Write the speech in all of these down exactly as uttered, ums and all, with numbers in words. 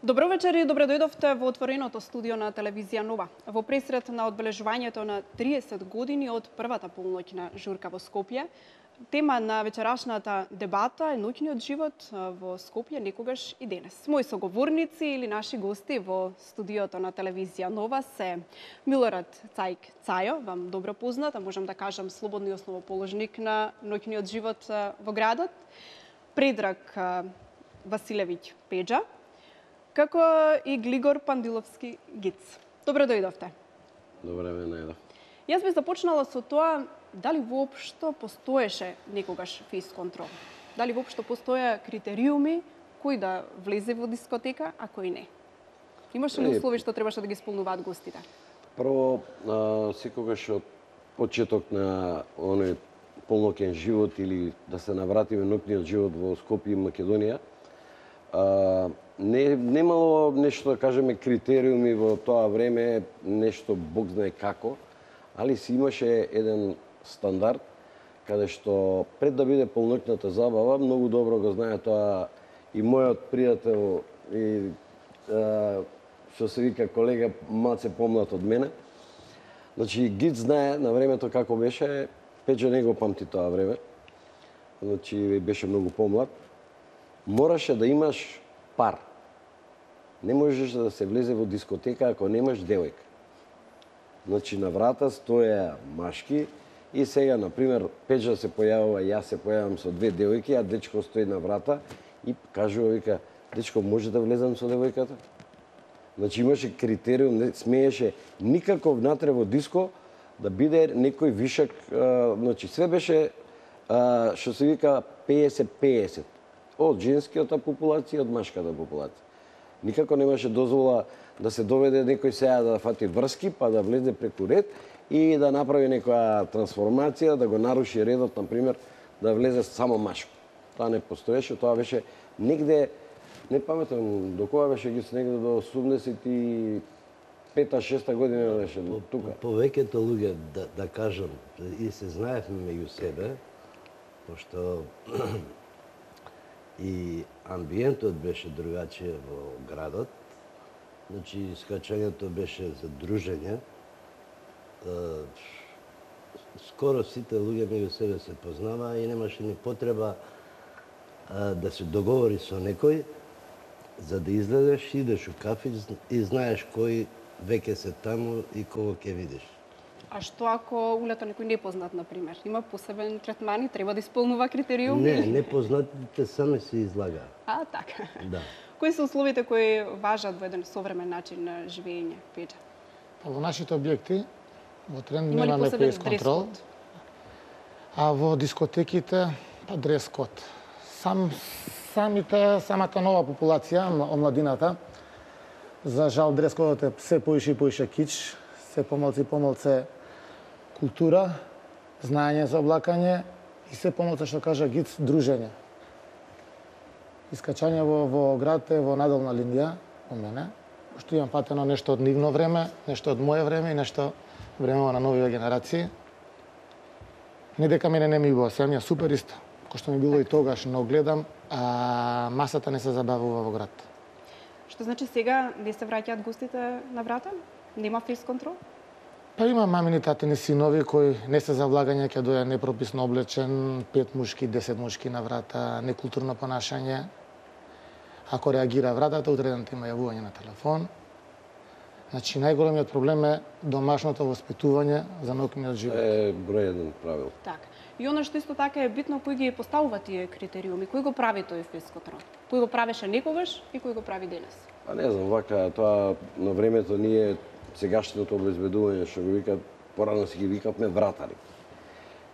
Добро вечер и добре дојдовте во отвореното студио на телевизија Нова. Во пресред на одбележувањето на триесет години од првата полноќна журка во Скопје, тема на вечерашната дебата е ноќниот живот во Скопје некогаш и денес. Мои соговорници или наши гости во студиото на телевизија Нова се Милорад Цајк Цајо, вам добро познат, а можам да кажам слободни основоположник на ноќниот живот во градот, Предраг Василевиќ Пеџа, како и Глигор Пандиловски Гиц. Добро дојдовте. Добре ме најдов. Јас би започнала со тоа дали воопшто постоеше некогаш фейс контрол. Дали воопшто постоја критериуми кој да влезе во дискотека, а кој не. Имаше ли услови што требаше да ги исполнуваат гостите? Прво, а, секогаш од почеток на оној полноќен живот или да се навратиме ноќниот живот во Скопје и Македонија, а, не немало нешто да кажеме критериуми во тоа време, нешто Бог знае како, али си имаше еден стандард каде што пред да биде полноќната забава, многу добро го знае тоа и мојот пријател и а, што се вика колега малце помлад од мене. Значи Гиц знае на времето како беше, Пеџа не го памти тоа време. Значи беше многу помлад. Мораше да имаш пар. Не можеш да се влезе во дискотека ако немаш девојка. Значи на врата стоја машки и сега, например, Пеџа се појавува, јас се појавам со две девојки, а дечко стои на врата и кажува, вика, дечко, може да влезам со девојката? Значи имаше критериум, не смееше никако внатре во диско да биде некој вишак, а, значи све беше, а, што се вика петдесет петдесет. Од женскиот популација, од машката популација. Никако немаше дозвола да се доведе некој сега да фати врски, па да влезе преку ред и да направи некоја трансформација, да го наруши редот, например, да влезе само машко. Тоа не постоеше, тоа беше негде, не паметам, до кога беше ги негде до осумдесет и пета шеста година беше тука. Повеќето луѓе, да, да кажам, и се знаевме меѓу себе, пошто и амбиентот беше другачие во градот. Значи, скачањето беше за дружење. Скоро сите луѓе меѓу себе се познава и немаше ни потреба да се договори со некој за да излезеш, идеш у кафич и знаеш кој веќе се таму и кого ќе видиш. А што ако улета некој непознат, например? Има посебен третман и треба да исполнува критериуми? Не, непознатите сами се излага. А, така. Да. Кои се условите кои важат во еден современ начин на живење, Пеџа? Во нашите објекти, во тренд немаме фейс контрол, а во дискотеките, па дрес код. Сам, самите, самата нова популација, омладината, за жал дрес кодот е се поише и поише кич, се помалце и помалце култура, знаење за облакање и се помалце, што кажа Гиц, дружење. Искачање во, во град е во наделна линија, по мене, што имам патено нешто од нивно време, нешто од моје време и нешто времево на новите генерации. Не дека мене не ми било, се ми е супер исто, кој што ми било и тогаш, но гледам, а масата не се забавува во град. Што значи сега не се враќаат гостите на врата? Нема фейс контрол? Па има мамини татини синови кои не се за влагање, ќе доја непрописно облечен, пет мушки, десет мушки на врата, некултурно понашање. Ако реагира вратата, утредната има јавување на телефон. Значи, најголемиот проблем е домашното воспитување за ноќниот живот. Е број еден правил. Така. И оно што исто така е битно, кој ги поставува тие критериуми, кој го прави тој фейс контрол? Кој го правеше некогаш и кој го прави денес? Па не знам, вака, тоа на времето ние сегашното обезбедување, што го викат, порано си ги викавме вратари.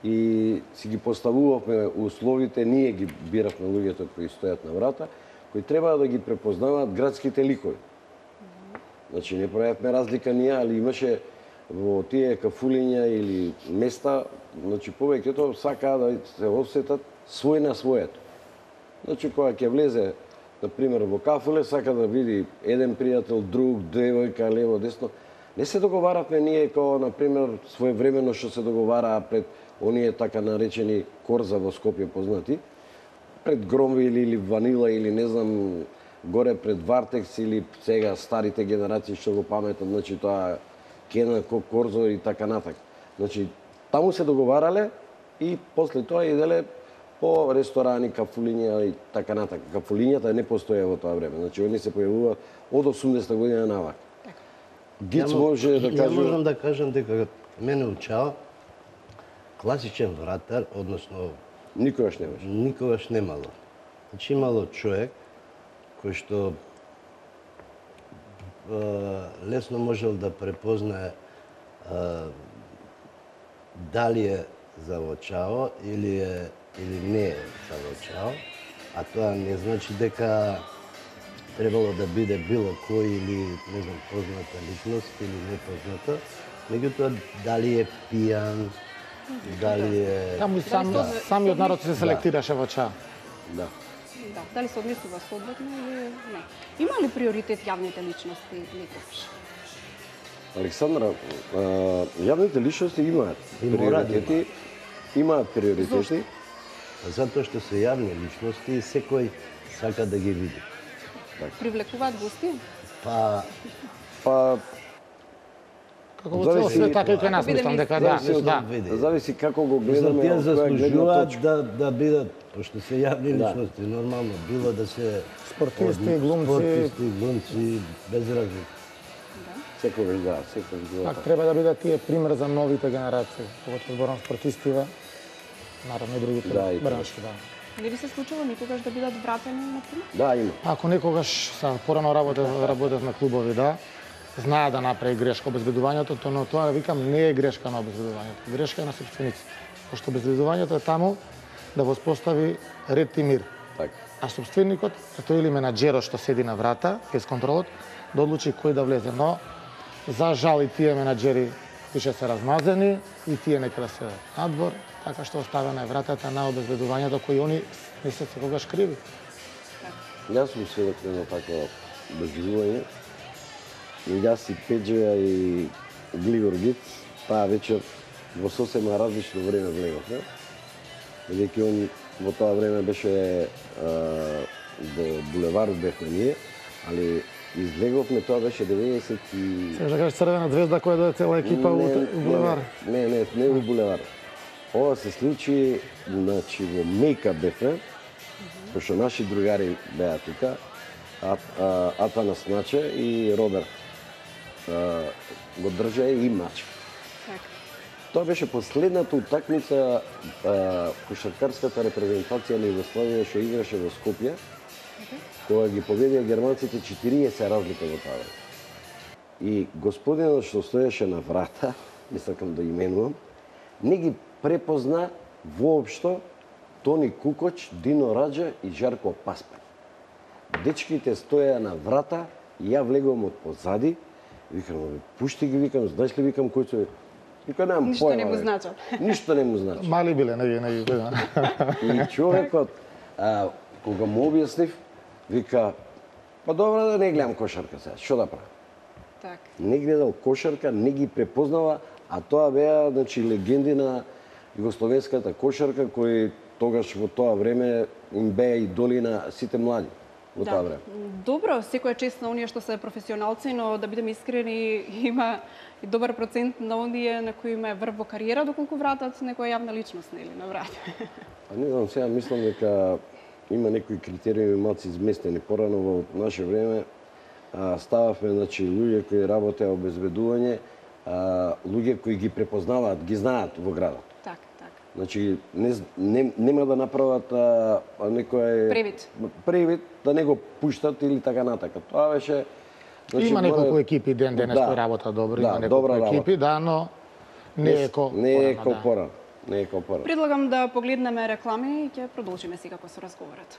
И си ги поставувавме условите, ние ги биравме луѓето кои стојат на врата, кои треба да ги препознаваат градските ликови. Значи, не правевме разлика ние, али имаше во тие кафулиња или места, значи, повеќето сакаа да се осетат свој на своето. Значи, кога ќе влезе, например, во кафуле, сака да види еден пријател, друг, девојка, лево, десно. Не се договаравме ние, како, например, своевремено што се договараа пред оние така наречени корза во Скопје познати, пред Громвил или Ванила или не знам горе пред Вартекс или сега старите генерации што го паметат, значи тоа Кена, Корзо и така натак. Значи таму се договарале и после тоа иделе по ресторани, кафулиња и така натак. Кафулињата не постоја во тоа време. Значи они се појавуваат од осумдесета година навак. Гиц може да каже... Ја можам да кажам дека мене учао класичен вратар, односно никогаш немаш. Никогаш немало. Значи имало човек кој што е, лесно можел да препознае е, дали е завочао или е или не е завочао, а тоа не значи дека требало да биде било кој или не знам позната личност или непозната, меѓутоа дали е пијан, дали е... Таму и сам, да. самиот народ се селектираше во ча. Да. Да, дали се однесува соодветно или не. Има ли приоритет јавните личности некогаш? Александра, а, јавните личности имаат И мора да приоритети, имаат приоритети. Зошто? Затоа што се јавни личности и секој сака да ги види. Привлекуваат гости? Па, Па Како во цел Зависи- свет, така и кај нас, Бидеме мислам дека да, зависи од- да. види. зависи како го Мислам, гледаме, тие од која гледна заслужуваат точка. да, да бидат, пошто се јавни Да. личности, нормално, било да се... Спортисти, од- глумци. Спортисти, глумци, без разлика. Секогаш да, секогаш го. Пак треба да бидат тие пример за новите генерации, поготово зборам спортистиве, наравно и другите Да, и бранши, да. Не би се случило никогаш да бидат вратени, например? Да, има. Ако некогаш са порано работев, работев на клубови, да, знае да направи грешка обезбедувањето, то но тоа викам не е грешка на обезбедувањето, грешка е на собствениците. Пошто обезбедувањето е таму да воспостави ред и мир. Така. А собственикот, е тој или менаџерот што седи на врата, без контролот, да одлучи кој да влезе. Но, за жал и тие менаџери више се размазени и тие нека да се надвор, така што оставена е вратата на обезбедувањето кои они не се секогаш криви. Јас сум сведок на едно такво обезбедување. И јас и Пеџеја и Глигор Гиц таа вечер во сосема различно време влеговме. Бидејќи он во тоа време беше а, во булеварот бевме ние, али излеговме, тоа беше деветдесет и... Сега да кажеш Црвена звезда која дојде цела екипа Не, у у булевар. Не, не, не во булевар. Ова се случи, значи, во Мејка бевме, пошто наши другари беа тука, а, а, Атанас Наче и Роберт а, го држа и Маче. Така. Тоа беше последната утакмица а, кошаркарската репрезентација на Југославија што играше во Скопје, кога ги победија германците четириесет разлика во тоа време. И господинот што стоеше на врата, не сакам да именувам, не ги препозна воопшто Тони Кукоч, Дино Раджа и Жарко Паспар. Дечките стоеа на врата и ја влегувам од позади, викам, бе, пушти ги, викам, знаеш ли, викам, кој се... Вика, немам Ништо појма, не му бе. значи. Ништо не му значи. Мали биле, не ги, не ги гледам. И човекот, а, кога му објаснив, вика, па добро да не гледам кошарка сега, што да правам? Така. Не гледал кошарка, не ги препознава, а тоа беа, значи, легенди на југословенската кошарка, кои тогаш во тоа време им беа идоли на сите млади во тоа време. Добро, секоја чест на оние што се професионалци, но да бидеме искрени, има и добар процент на оние на кои има врв во кариера, доколку вратат некоја јавна личност, нели, на врат. А не знам, сега мислам дека има некои критериуми малку изместени. Порано во наше време а, стававме, значи, луѓе кои работеа обезбедување, а, луѓе кои ги препознаваат, ги знаат во градот. Така, така. Значи, не, не, нема да направат а, а, некој... Превид. Превид, да не го пуштат или така натака. Тоа беше... Има мора- неколку екипи ден денес Да. кои работат добро, Да, има неколку добра работа. екипи, да, но не е ко Не е порано, ко да. порано. Не е ко порано. Предлагам да погледнеме реклами и ќе продолжиме секако со разговорот.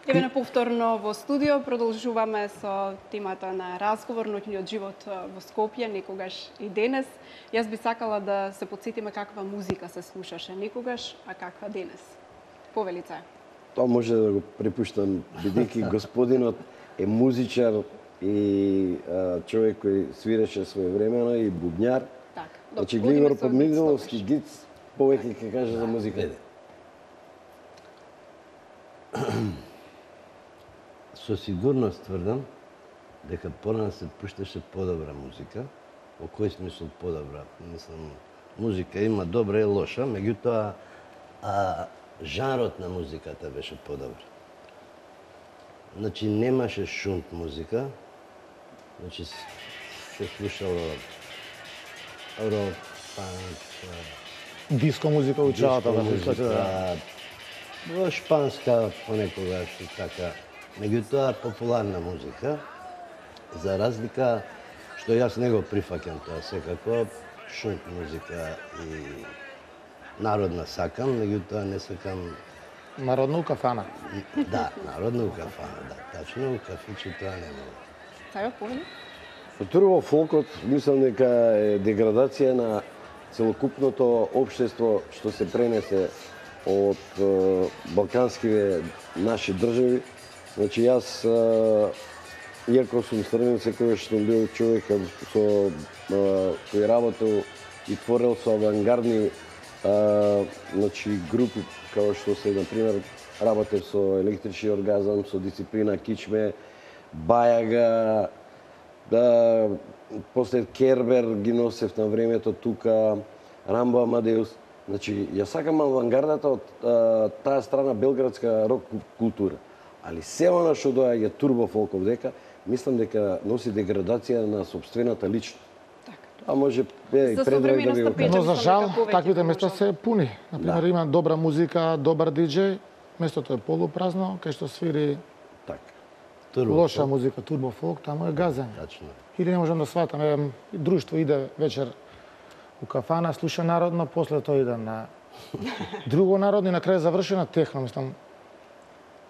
Еве на повторно во студио продолжуваме со темата на разговор, ноќниот живот во Скопје, некогаш и денес. Јас би сакала да се потсетиме каква музика се слушаше некогаш, а каква денес. Повелица. Тоа може да го препуштам, бидејќи господинот е музичар и а, човек кој свиреше своевремено и бубњар. Така. Значи одиме Глигор со Подмигновски Гиц Гиц повеќе ќе каже за музика. со сигурност тврдам дека порано се пушташе подобра музика. Во кој смисол подобра? Мислам, музика има добра и лоша, меѓутоа а, жанрот на музиката беше подобра. Значи немаше шунт музика, значи се слушало рок, панк, Диско музика учеата да музика, да. во шпанска понекогаш и така. Меѓутоа популарна музика, за разлика што јас не го прифаќам тоа секако, шунт музика и народна сакам, меѓутоа не сакам. Народна у кафана. Да, народна у кафана, да. Тачно, у кафиче тоа не мога. Сајо, повеќе? Турбо фолкот мислам дека е деградација на целокупното општество што се пренесе од е, балканскиве наши држави. Значи јас е, иако сум срден, секогаш сум бил човек со е, кој работел и творел со авангардни е, значи групи како што се на пример работев со Електрични оргазам, со Дисциплина Кичме, Бајага, да, после Кербер ги носев на времето тука, Рамбо Амадеус. Значи, ја сакам авангардата од а, таа страна белградска рок култура. Али се она што доаѓа турбо фолков дека, мислам дека носи деградација на собствената личност. А може е, и Предраг да ви го кажа. Но за жал, таквите места се пуни. Например, да. Има добра музика, добар диџеј, местото е полупразно, кај што свири така. Турбо лоша фолк. музика, турбо фолк, таму е газење. Тачно. Или не можам да сватам, е, друштво иде вечер у кафана, слуша народно, после тоа иде на друго народно и на крај заврши на техно, мислам.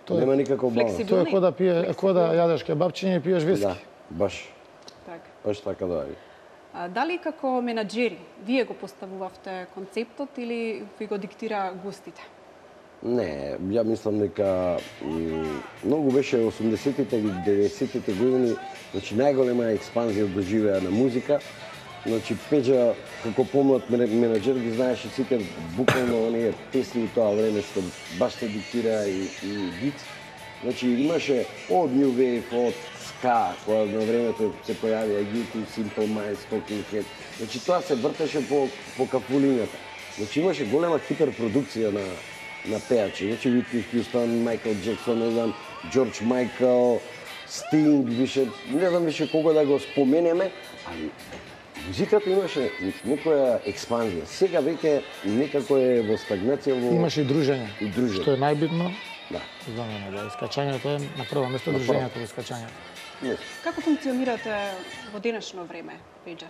Тоа Нема никаков баланс. Тоа е кој да пие, кој да јадеш кебапчиња и пиеш виски. Да, баш. Така. Баш така да е. А, дали како менаџери вие го поставувавте концептот или ви го диктира гостите? Не, ја мислам дека м, многу беше осумдесетите и деветдесетите години, значи најголема експанзија доживеа на музика. Значи Пеџа како помлад менаџер ги знаеше сите буквално оние песни у тоа време што баш се диктира и, и гит. Значи имаше од New Wave, од Ska, која на времето се појавија ю ту, Simple Minds, Talking Heads. Значи тоа се вртеше по, по кафулињата. Значи имаше голема хиперпродукција на на пеачи. Значи Whitney Houston, Майкл Джексон, не знам, Джордж Майкл, Стинг, више, не знам више кога да го споменеме, али музиката имаше некоја експанзија. Сега веќе некако е во стагнација во... Имаше и дружење. И дружење. Што е најбитно Да. за мене, да, искачањето е на прво место, дружењето во искачањето. Не. Како функционирате во денешно време, Пеџа?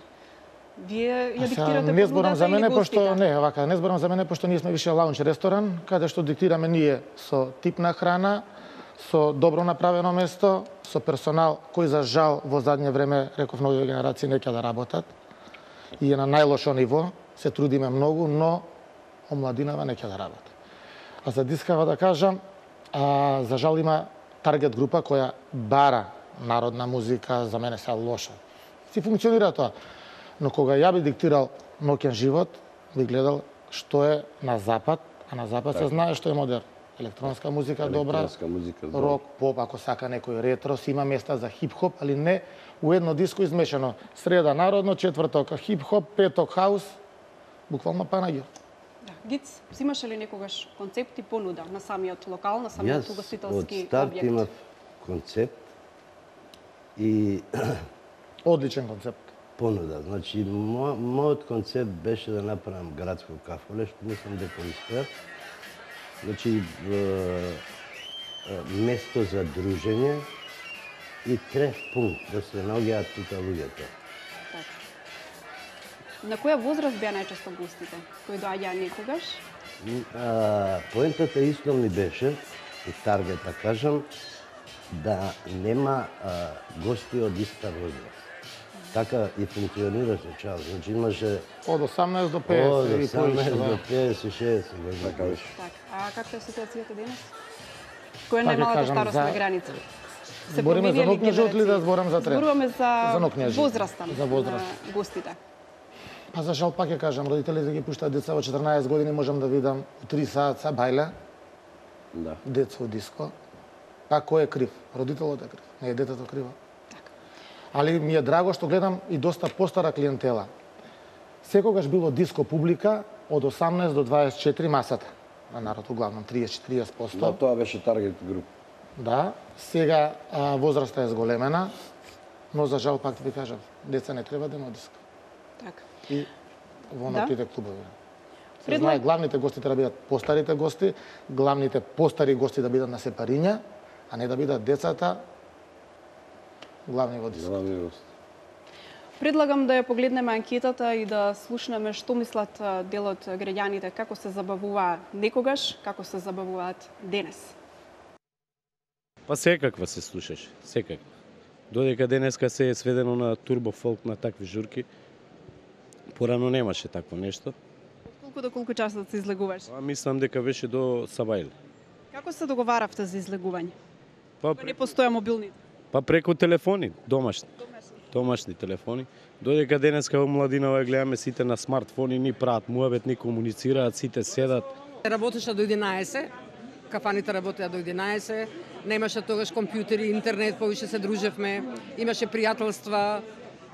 Вие ја А сега, диктирате не зборам за мене, гостите? пошто не, вака, не зборам за мене пошто ние сме више лаунч ресторан, каде што диктираме ние со тип на храна, со добро направено место, со персонал кој за жал во задње време, реков, нови генерации не ќе да работат и е на најлошо ниво, се трудиме многу, но омладинава не ќе да работи. А за дискава да кажам, а, за жал има таргет група која бара народна музика, за мене се лоша. Си функционира тоа. Но кога ја би диктирал ноќен живот, би гледал што е на запад, а на запад се знае што е модерн. Електронска музика добра, Електронска музика добра. рок, поп, ако сака некој ретро, си има места за хип-хоп, али не у едно диско измешано. Среда народно, четврток хип-хоп, петок хаус, буквално панагио. Да. Гиц, взимаше ли некогаш концепт и понуда на самиот локал, на самиот Јас од угостителски старт објект? имав концепт и Одличен концепт. понуда. Значи, мо, мојот концепт беше да направам градско кафуле, што мислам дека успеав. Значи, е, е, место за дружење и треф пункт да се наоѓаат тука луѓето. Така. На која возраст беа најчесто гостите кои доаѓаа некогаш? А, поентата исто ми беше, и таргет да кажам, да нема а, гости од иста возраст. Така и функционираше час. Значи имаше Од осамнаесет до од педесет и осамнаесет поише. до педесет и шеесет години. Така беше. Така. А каква е ситуацијата денес? Која е Пак ви најновата кажам, старосна за- граница? Се Збориме за променија ли нокњежи или да генерации? зборам за трен? Зборуваме за, За нокњежи. возраста За возраст. на гостите. Па за жал пак ја кажам, родителите ги пуштаат деца во четрнаесет години, можам да видам у три саат са бајле. Да. Децо диско. Па кој е крив? Родителот е крив, не е детето криво. Али ми е драго што гледам и доста постара клиентела. Секогаш било диско публика од осамнаесет до дваесет и четири масата. На народ углавном триесет до четиридесет проценти. Да, тоа беше таргет груп. Да, сега а, возраста е зголемена, но за жал пак ти ви кажав, деца не треба да има диско. Така. И во Да. нотите клубови. Се Предлаг- знае, главните гости треба да бидат постарите гости, главните постари гости да бидат на сепариња, а не да бидат децата главни во диско. Главни гост. Предлагам да ја погледнеме анкетата и да слушнеме што мислат а, дел од граѓаните, како се забавуваа некогаш, како се забавуваат денес. Па секаква се слушаш, секаква. Додека денеска се е сведено на турбо фолк, на такви журки, порано немаше такво нешто. Колку до колку часот се излегуваш? А мислам дека беше до Сабајле. Како се договаравте за излегување? Па, Кога не постоја мобилните? па преку телефони, домашни. Домашни телефони. Додека денеска во младинава гледаме сите на смартфони, ни прават муабет, ни комуницираат, сите седат. Работеше до единаесет, кафаните работеа до единаесет, немаше тогаш компјутери, интернет, повише се дружевме, имаше пријателства,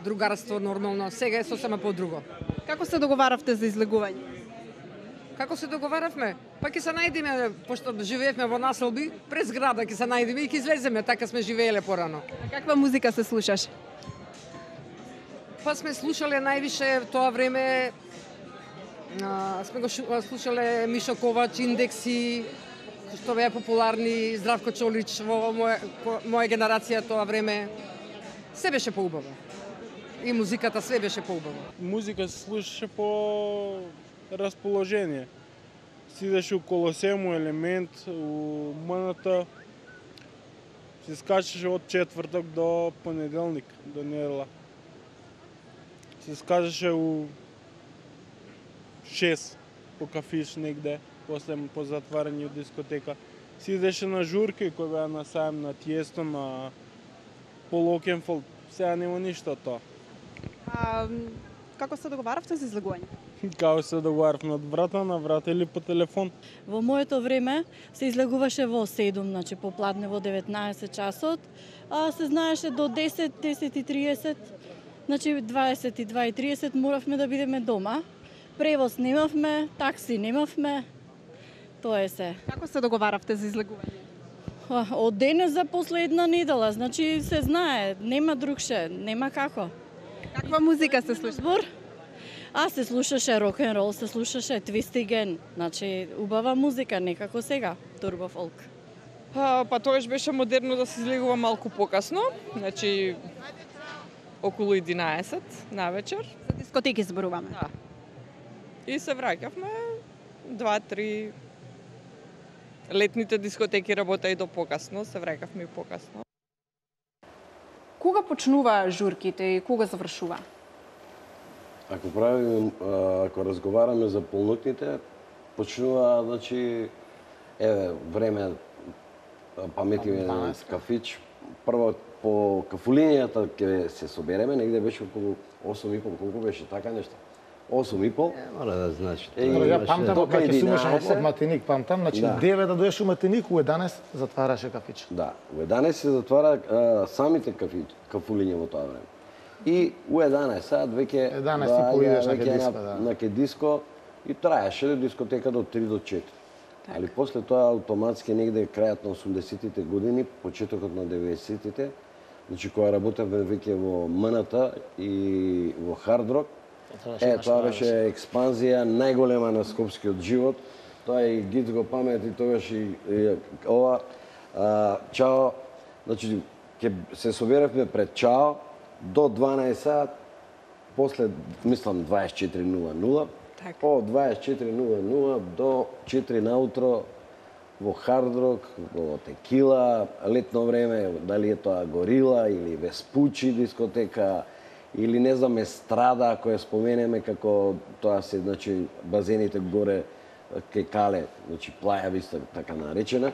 другарство нормално. Сега е сосема подруго. Како се договаравте за излегување? Како се договаравме? Па ќе се најдеме, пошто живеевме во населби, през града ќе се најдеме и ќе излеземе, така сме живееле порано. А каква музика се слушаш? Па сме слушале највише в тоа време, а, сме го шу- слушале Мишо Ковач, Индекси, што беа популарни, Здравко Чолич во моја, по- моја генерација тоа време. Се беше поубаво. И музиката све беше поубаво. Музика се слушаше по расположение. Сидеше у Колосему, Елемент, у МНТ. Се скачаше од четврток до понеделник, до недела. Се скачаше у шест по кафиш негде, после по затварање од дискотека. Сидеше на журки кои беа на сајм, на Тиесто, на Полокенфолд. Сега нема ништо од тоа. А, м, како се договаравте за излегување? Као се договарав од врата на врата или по телефон. Во моето време се излегуваше во седум, значи попладне во деветнаесет часот, а се знаеше до десет, десет и тридесет, значи дваесет и два и тридесет моравме да бидеме дома. Превоз немавме, такси немавме, тоа е се. Како се договаравте за излегување? А, Од денес за после една недела, значи се знае, нема другше, нема како. Каква музика се слуша? Збор? А се слушаше рок н рол, се слушаше твистиген, значи убава музика, некако сега, турбо фолк. А, па тогаш беше модерно да се излегува малку покасно, значи околу единаесет на вечер. За дискотеки зборуваме. Да. И се враќавме два-три. Летните дискотеки работеа и до покасно, се враќавме и покасно. Кога почнуваа журките и кога завршува? Ако правиме, а, ако разговараме за полнокните, почнува, значи, еве, време, паметиме на кафич, прво по кафулинијата ќе се собереме, негде беше околу осум и пол, колку беше така нешто? осум и пол. Е, мора да знаеш. Е, Добро, ја имаше памтам до кога ќе сумеше од, единаесет. од Матиник, памтам, значи Да. девет да доеш у Матиник, у единаесет затвараше кафич. Да, у единаесет се затвара а, самите кафи, кафулиња во тоа време. И у единаесет сат веќе единаесет и пол идеш на веќе ке диско, да. на ке диско и траеше дискотека до три до четири. Али после тоа автоматски негде крајот на осумдесетите години, почетокот на деветдесетите, значи кога работевме веќе во МНТ и во Хард Рок, е, тоа беше експанзија најголема на скопскиот живот. Тоа и Гиц го памети тогаш и, и ова. А, чао, значи, ќе се соберевме пред чао до дванаесет сат, после, мислам, дваесет и четири нула нула, Така. од дваесет и четири нула нула до четири наутро во Хард Рок, во Текила, летно време, дали е тоа Горила или Веспучи дискотека, или не знам Естрада, која споменеме како тоа се, значи, базените горе кај Кале, значи Плаја Виста, така наречена.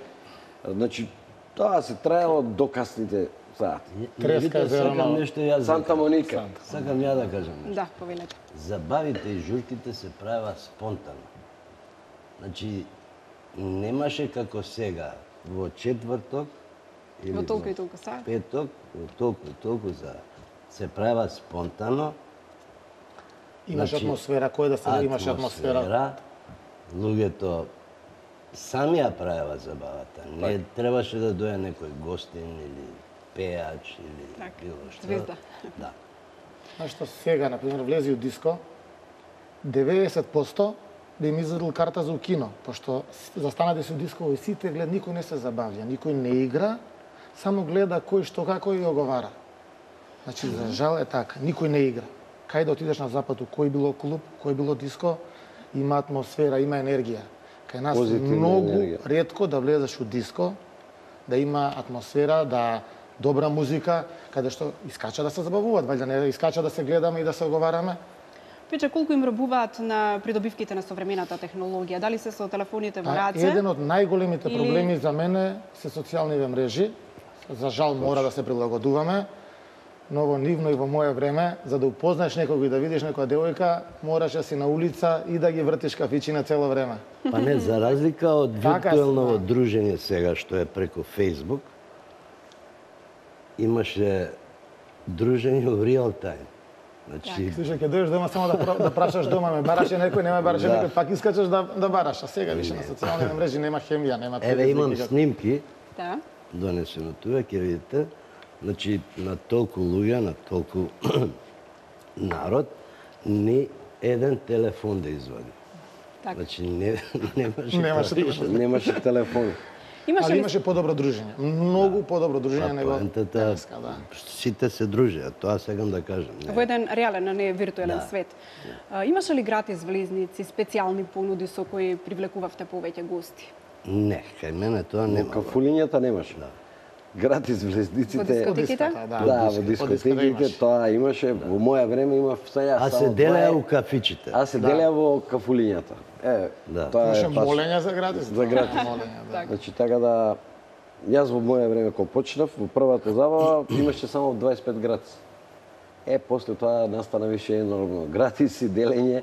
Значи, тоа се траело до касните сати. Треска Видите, зелено. сакам нешто јас да Санта Моника. Сакам ја да кажам нешто. Да, повелете. Забавите и журките се правеа спонтано. Значи, немаше како сега во четврток или Во толку и толку саат. петок, во толку и толку за се прават спонтано. Имаш Значи, атмосфера, кој да се имаш атмосфера. Луѓето сами ја правеа забавата. Не требаше да дојде некој гостин или пеач или Так, било што. звезда. Да. Знаеш што сега, например, влези у диско, деветдесет проценти да им извадил карта за у кино, пошто застанате се у диско и сите глед, никој не се забавја, никој не игра, само гледа кој што како и оговара. Значи, за жал е така, никој не игра. Кај да отидеш на запад, у кој било клуб, кој било диско, има атмосфера, има енергија. Кај нас Позитивна многу енергија. ретко да влезеш у диско, да има атмосфера, да добра музика, каде што искача да се забавуваат, валјда не искача да се гледаме и да се оговараме. Пече, колку им робуваат на придобивките на современата технологија? Дали се со телефоните во А, раце? еден од најголемите Или- проблеми за мене се социјалните мрежи. За жал мора да се прилагодуваме, но во нивно и во моје време, за да упознаеш некој и да видиш некоја девојка, мораш да си на улица и да ги вртиш кафичи на цело време. Па не, за разлика од Така се, виртуелно да. дружење сега, што е преку Facebook, имаше дружење во реал тајм. Значи, Слушај, ќе дојдеш дома само да, про- да прашаш дома, ме бараше некој, не ме бараше Да. некој, пак искачаш да, да бараш, а сега више на социјалните мрежи нема хемија, нема еве имам никаква. снимки, Да. донесено тука, ќе видите, значи на толку луѓе, на толку народ, ни еден телефон да извади. Така. Значи не немаше Немаше тоа. телефон. Немаше телефон. Имаше Али ли имаше подобро дружење, многу подобро дружење Па него поентата, денеска, да. сите се дружеа, тоа сакам да кажам. во еден реален, а не виртуелен Да. свет? А, имаше ли гратис влезници, специјални понуди со кои привлекувавте повеќе гости? Не, кај мене тоа Во нема. кафулињата немаше. Гратис Во влезниците. дискотеките? Да, Да, во во дискотека дискотеките имаше. тоа имаше. Во моја време има сега А се само делеа два- у кафичите. А се Да. делеа во кафулињата. Е, Да. тоа Имаше е паш. молења за гратис. За гратис. Молења, да. Значи така да јас во моја време кога почнав во првата забава имаше само дваесет и пет гратис. Е после тоа настана више нормално гратис и делење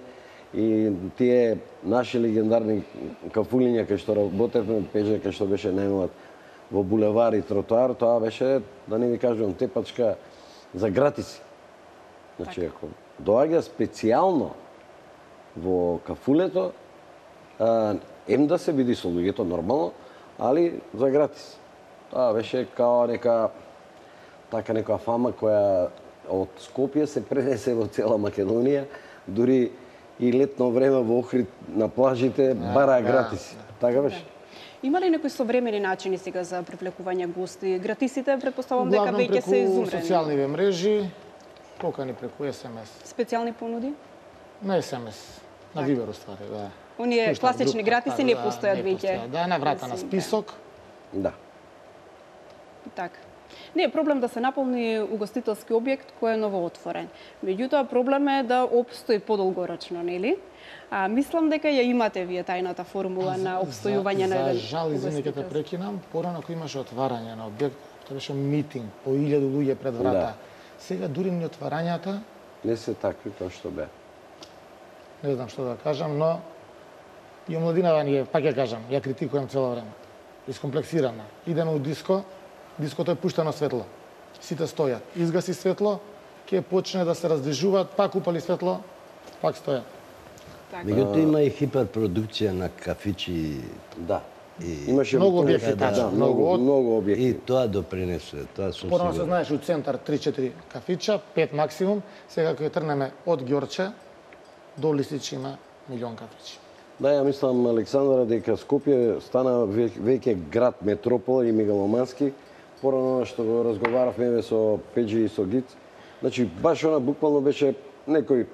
и тие наши легендарни кафулиња кај што работевме, пеже кај што беше најмлад во булевар и тротоар, тоа беше, да не ви кажувам, тепачка за гратиси. Значи, ако доаѓа специјално во кафулето, а, ем да се види со луѓето нормално, али за гратис. Тоа беше као нека така некоја фама која од Скопје се пренесе во цела Македонија, дури и летно време во Охрид на плажите бараа да, гратиси. Така беше. Има ли некои современи начини сега за привлекување гости? Гратисите, предпоставувам дека Главно веќе преку се изумрени. социјалните мрежи, покани преку ес ем ес. Специјални понуди? На ес ем ес, на Вибер уствари, да. Оние Пуштам класични група, гратиси така, не да, постојат не веќе. постојат. Да, на врата на Мислим, список. Да. Така. Не е проблем да се наполни угостителски објект кој е новоотворен. Меѓутоа проблем е да опстои подолгорочно, нели? А мислам дека ја имате вие тајната формула на обстојување на за, еден за жал, извини ќе те угостителски. прекинам, порано кој имаше отварање на објект, тоа беше митинг по илјаду луѓе пред врата. Да. Сега дури ни отварањата, Не се такви како што беа. не знам што да кажам, но и омладинава ни е, пак ја кажам, ја критикувам цело време. Искомплексирана. Идеме у диско, диското е пуштено светло. Сите стојат. Изгаси светло, ќе почне да се раздвижуваат, пак упали светло, пак стојат. Така. Меѓутоа има и хиперпродукција на кафичи Да. и Имаше Многу во- објекти, да, тачно, многу, многу од- многу и објекти. тоа допринесува, тоа сум Порано се сигурен. знаеш у центар три-четири кафича, пет максимум. Сега кога трнеме од Ѓорче до Лисич има милион кафичи. Да, ја мислам, Александра, дека Скопје стана ве- веќе град метропол и мегаломански. Порано што го разговаравме еве со Пеџи и со Гиц. Значи, баш она буквално беше некој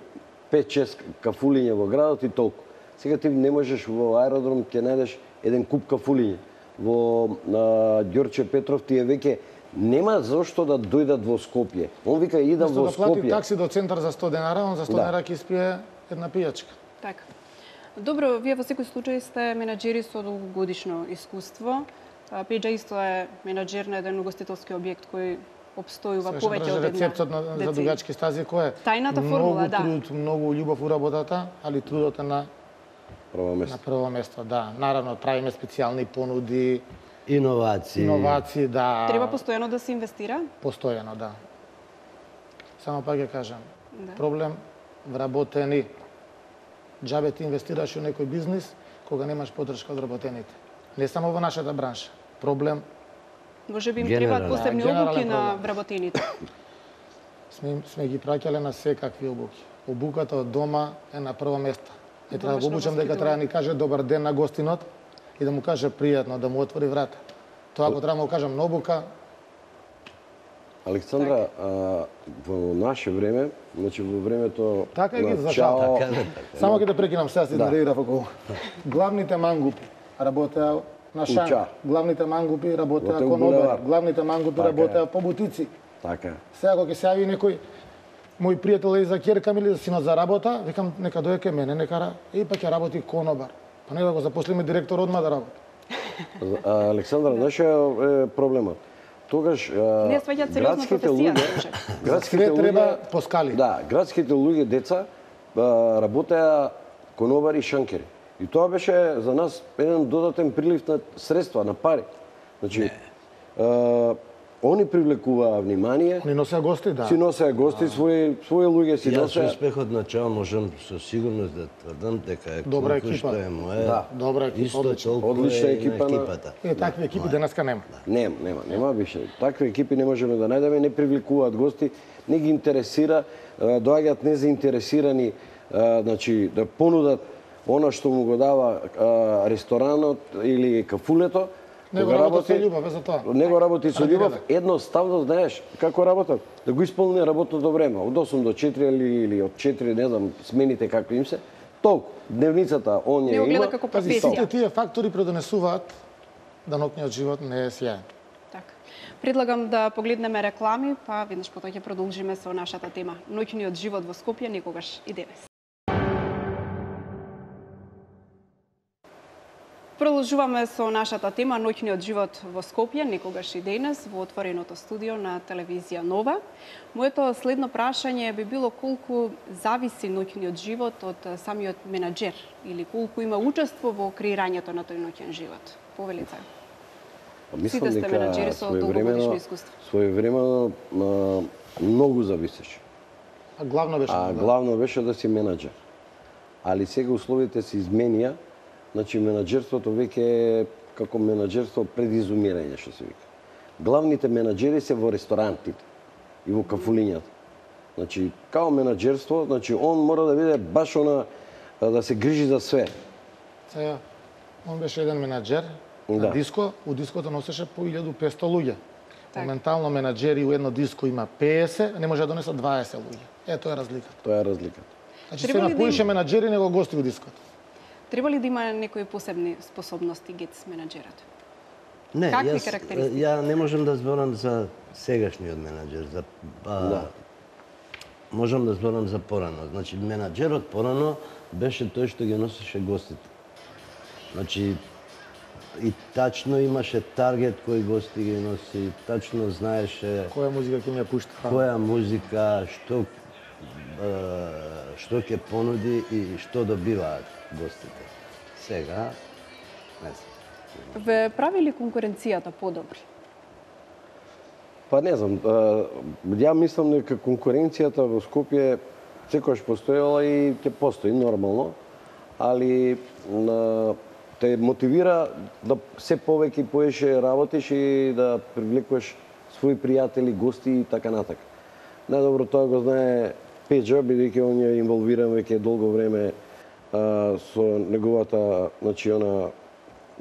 пет-шест кафулиња во градот и толку. Сега ти не можеш во аеродром ќе најдеш еден куп кафулиња. Во а, Ѓорче Петров тие веќе нема зошто да дојдат во Скопје. Он вика идам Место во да плати Скопје. такси до центар за сто денара, он за сто Да. денара ќе испие една пијачка. Така. Добро, вие во секој случај сте менаџери со долгогодишно искуство. А, Пеџа исто е менаџер на еден угостителски објект кој обстојува Сега ќе повеќе кажа од една рецептот на, за деценија. дугачки стази кој е? Тајната формула, многу да. труд, многу љубов у работата, али трудот е на прво На место. прво место, да. Наравно, правиме специјални понуди, Иновации. иновации, да. Треба постојано да се инвестира? Постојано, да. Само пак ќе кажам, Да. проблем вработени. Џабе ти инвестираш во некој бизнис кога немаш поддршка од вработените. Не само во нашата бранша. Проблем Може би им Генерален. требаат посебни Да, генерален обуки на проблем. вработените. сме, сме ги праќале на секакви обуки. Обуката од дома е на прво место. Не треба да го Домашно обучам дека воспитување. треба да ни каже добар ден на гостинот и да му каже пријатно, да му отвори врата. Тоа ако треба да му кажам на обука, Александра, а, во наше време, значи во времето така ги на за Чао, жал. Така, Само ќе те прекинам сега си Да. измерирав околу. Главните мангупи работеа на Уча. шанк. Главните мангупи работеа Во тој кон булевар. обари. Главните мангупи Така е. работеа по бутици. така. Сега кога ќе се јави некој мој пријател е за ќерка ми или за синот за работа, викам нека дојде кај мене, нека ра- и па ќе работи конобар. Па не да го заposlиме директор одма да работи. А, Александра, знаеш што е проблемот? Тогаш а, Не сваќаат сериозно градските професија. луѓе, градските Све треба луѓе, по скали. да, градските луѓе деца а, работеа конобари и шанкери. И тоа беше за нас еден додатен прилив на средства, на пари. Значи, а, они привлекуваа внимание, Они носеа гости, да. си носеа гости, своји своји луѓе си Јас со носеа. успехот на Чао можам со сигурност да тврдам дека е Добра колку екипа. што е моја. Да. Добра екипа, Исто одлично. толку Одлична е екипа на на- екипата. Е, такви екипи денеска нема. Нема, нема, нема више. Такви екипи не можеме да најдеме, не привлекуваат гости, не ги интересира, а, доаѓаат незаинтересирани, а, значи да понудат она што му го дава а, ресторанот или кафулето. Него кога работи со љубов, е за тоа. Него работи со Ради љубов, рада. едноставно знаеш како работат, да го исполни работното време, од осум до четири или, или од четири, не знам, смените какви им се. Толку, дневницата он ја Не го гледа има. како Пази, професија. сите тие фактори предонесуваат да ноќниот живот не е сјаен. Така. Предлагам да погледнеме реклами, па веднаш потоа ќе продолжиме со нашата тема. Ноќниот живот во Скопје никогаш и денес. Продолжуваме со нашата тема Ноќниот живот во Скопје, никогаш и денес, во отвореното студио на телевизија Нова. Моето следно прашање би било колку зависи ноќниот живот од самиот менаџер или колку има учество во креирањето на тој ноќен живот. Повелица. Па мислам Сите сте дека менаџери со своевремено- долгогодишно искуство. Своевремено а, многу зависеше. А главно беше А да. главно беше да си менаџер. Али сега условите се изменија, значи менаџерството веќе е како менаџерство пред изумирање, што се вика. Главните менаџери се во ресторантите и во кафулињата. Значи, као менаџерство, значи он мора да биде баш она а, да се грижи за све. Сега, он беше еден менаџер на Да. диско, у диското носеше по илјаду и песто луѓе. Така. Моментално менаџери у едно диско има петдесет, а не може да донесат дваесет луѓе. Е, тоа е разликата. Тоа е разликата. Значи, Треба се ли да напоише им- менаџери него гости у диското. Треба ли да има некои посебни способности гец менаџерот? Не, Какви јас, карактеристики? ја не можам да зборам за сегашниот менаџер, за а, Да. можам да зборам за порано. Значи менаџерот порано беше тој што ги носеше гостите. Значи и тачно имаше таргет кој гости ги носи, тачно знаеше Која музика ќе ми ја пушта? која музика, што е, што ќе понуди и што добиваат гостите. Сега, не знам. Ве прави ли конкуренцијата подобри? Па не знам, а, ја мислам дека конкуренцијата во Скопје секогаш постоела и ќе постои нормално, али на, те мотивира да се повеќе и поеше работиш и да привлекуваш своји пријатели, гости и така натака. Најдобро тоа го знае Пеџа, бидејќи он е инволвиран веќе долго време а, со неговата, значи, она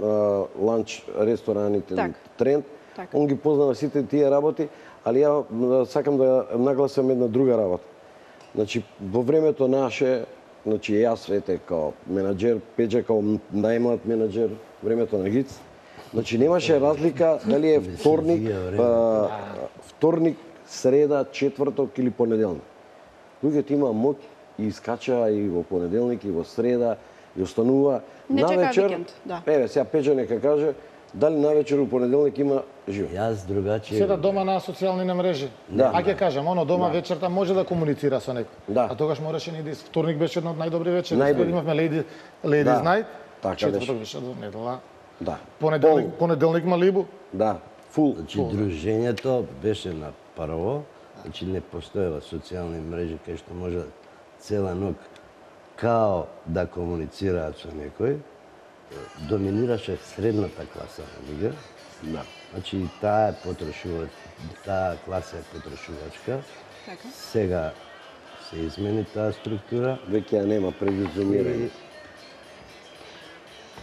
а, ланч рестораните Так. тренд. Така. Он ги познава сите тие работи, али ја м, сакам да нагласам една друга работа. Значи, во времето наше, значи јас ете као менаџер, Пеџа као најмлад менаџер, времето на Гиц, значи немаше разлика дали е вторник, а, вторник, среда, четврток или понеделник. Луѓето има моќ и искача и во понеделник, и во среда, и останува Не чекаа навечер. викенд, да. Еве, сега Пеџа нека каже, дали навечер у понеделник има живот. Јас другачи. Седат дома на социјални мрежи. Да. А ќе кажам, оно дома Да. вечерта може да комуницира со некој. Да. А тогаш мораше ни да вторник беше едно од најдобри вечери. Најдобри. Имавме Lady Ladies Да. Night. Така Четврток беше. беше до недела. Да. Понеделник, Пол. понеделник Малибу. Да. Фул. Значи, дружењето беше на прво, значи не постоела социјални мрежи кај што може цела ног као да комуницираат со некој. Доминираше средната класа на луѓе. Да. Значи таа е потрошувач, таа класа е потрошувачка. Така. Сега се измени таа структура. Веќе ја нема предизумирање.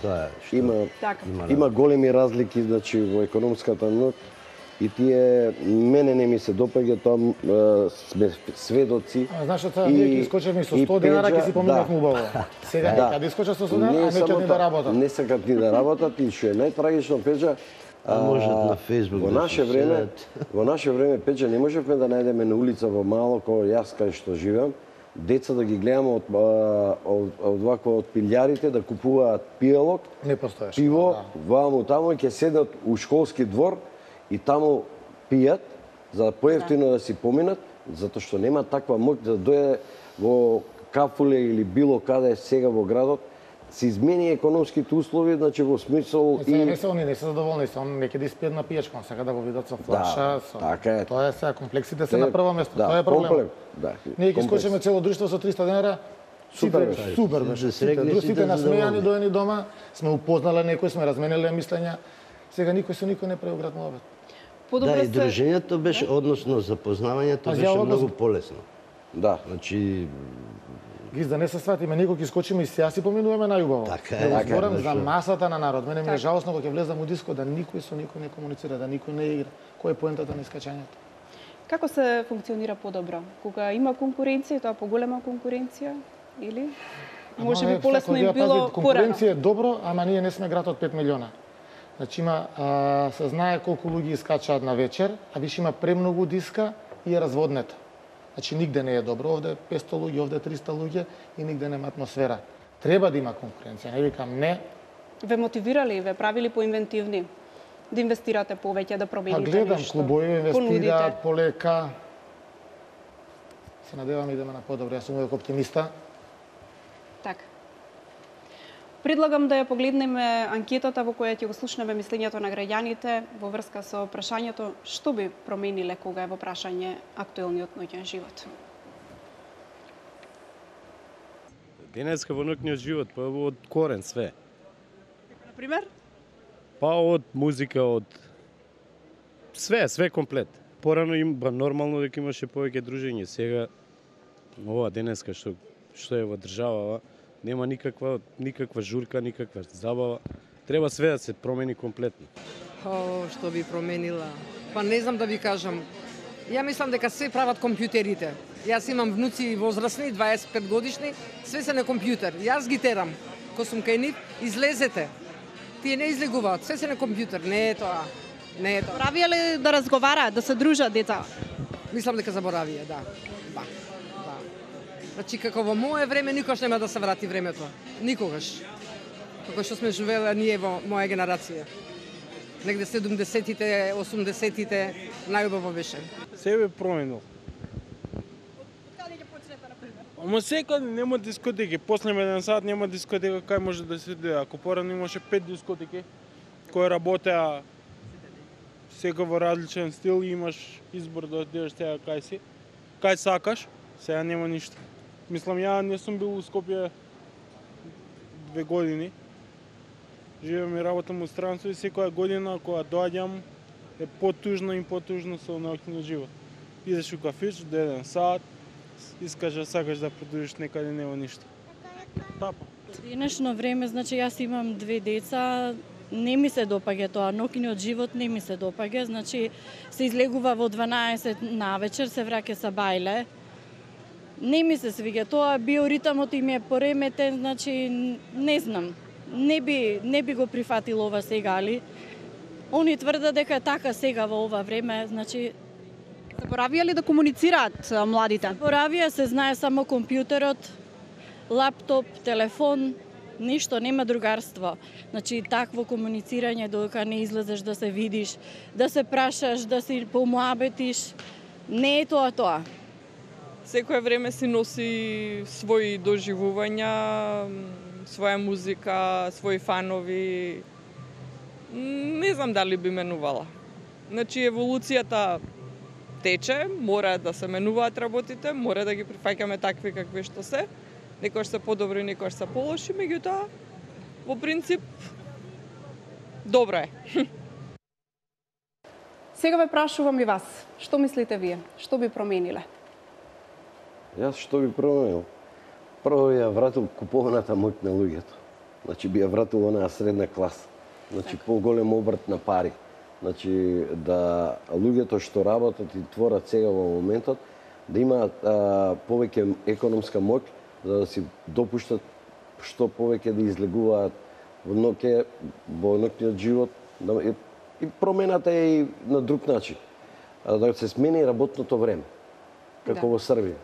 Тоа е што Има Така. има големи разлики значи во економската ног и тие мене не ми се допаѓа тоа м, сме сведоци. А знаеш што, И- ние ќе искочеме со и сто денара ќе Пеџа, си поминавме да. убаво. Сега Да. ќе да искочат со сто денара, а не само ќе ни да тоа, работат. Не сакат ни да работат и што е најтрагично, Пеџа, А можат на Facebook во да наше се време, седат. во наше време Пеџа не можевме да најдеме на улица во мало кој јас кај што живеам, деца да ги гледаме од а, од, од вакво од пилјарите да купуваат пијалок, Не постоеше. пиво, да. ваму таму и ќе седат у школски двор и таму пијат за да поевтино да си поминат, затоа што нема таква моќ да дојде во Кафуле или било каде сега во градот, се измени економските услови, значи во смисол И сега не и се они не се задоволни, се они неќе да испијат на пијачка, он сака да го видат со флаша, со така е. Тоа е сега комплексите се на прво место, да, тоа е проблем. комплем, да, Ние ќе комплекс. искочиме цело друштво со триста денара. Супер Сите- беше. Супер Сите беше. срегни, Сите, сите сите насмејани задоволни. доени дома, сме упознале некој, сме размениле мислења. Сега никој со никој не прави град муабет. Подобро Да, и се дружењето беше, односно запознавањето А беше ја однос- многу полесно. Да. Значи, Гиз да не се сватиме, никој ќе искочиме и сега си поминуваме најубаво. Така е, Не го така е, зборам за зашо? масата на народ. Мене ми е Така. жалосно кога ќе влезам у диско да никој со никој не комуницира, да никој не игра. Кој е поентата на искачањето? Како се функционира подобро? Кога има конкуренција, тоа поголема конкуренција или може би полесно им било порано? Конкуренција е добро, ама ние не сме град од пет милиона. Значи има, а, се знае колку луѓе искачаат на вечер, а више има премногу диска и е разводнета. Значи нигде не е добро, овде петсто луѓе, овде триста луѓе и нигде нема атмосфера. Треба да има конкуренција, не викам не. Ве мотивирали, ве правили поинвентивни? Да инвестирате повеќе, да Па промените гледам, нешто? клубови инвестираат Понудите? полека. Се надевам идеме на подобро, јас сум uvek оптимиста. Така. Предлагам да ја погледнеме анкетата во која ќе го слушнеме мислењето на граѓаните во врска со прашањето што би промениле кога е во прашање актуелниот ноќен живот. Денеска во ноќниот живот, па од корен све. На пример? Па од музика, од све, све комплет. Порано им ба нормално дека имаше повеќе дружење. Сега ова денеска што што е во државава, нема никаква никаква журка, никаква забава. Треба све да се промени комплетно. О, што би променила? Па не знам да ви кажам. Ја мислам дека се прават компјутерите. Јас имам внуци возрастни, дваесет и пет годишни, све се на компјутер. Јас ги терам. Ко сум кај нив, излезете. Тие не излегуваат, све се на компјутер. Не е тоа. Не е тоа. Правија ли да разговараат, да се дружат деца? Мислам дека заборавија, да. Да. Да. Значи како во мое време никогаш нема да се врати времето. Никогаш. Како што сме живееле ние во моја генерација. Негде седумдесетите, осумдесетите најубаво беше. Се бе променил. Ама секаде нема дискотеки, после еден сат нема дискотека, кај може да се дојде. Ако порано имаше пет дискотеки кои работеа сека во различен стил и имаш избор да одидеш сега кај си, кај сакаш, сега нема ништо. Мислам, ја не сум бил у Скопје две години. Живеам и работам у странство и секоја година кога доаѓам е потужно и потужно со ноќниот живот. Идеш у кафич до еден сат, искаш сакаш да продолжиш некаде нема ништо. Тапа. Денешно време, значи јас имам две деца, не ми се допаѓа тоа, ноќниот живот не ми се допаѓа, значи се излегува во дванаесет навечер, се враќа са бајле. Не ми се свиѓа тоа, биоритамот им е пореметен, значи не знам. Не би не би го прифатил ова сега, али они тврдат дека така сега во ова време, значи Заборавија ли да комуницираат а, младите? Боравија се знае само компјутерот, лаптоп, телефон, ништо, нема другарство. Значи, такво комуницирање додека не излезеш да се видиш, да се прашаш, да си помуабетиш, не е тоа тоа. Секое време си носи своји доживувања, своја музика, своји фанови. Не знам дали би менувала. Значи, еволуцијата тече, мора да се менуваат работите, мора да ги прифаќаме такви какви што се. Некојаш се подобри, некојаш се полоши, меѓутоа, во принцип, добро е. Сега ве прашувам и вас, што мислите вие? Што би промениле? Јас што би променил? Прво ја вратил купуваната моќ на луѓето. Значи би ја вратил онаа средна класа. Значи поголем обрт на пари. Значи да луѓето што работат и творат сега во моментот да имаат а, повеќе економска моќ за да си допуштат што повеќе да излегуваат во ноќе, во ноќниот живот, да, и, и промената е и на друг начин. А, да се смени работното време, како да. Во Србија,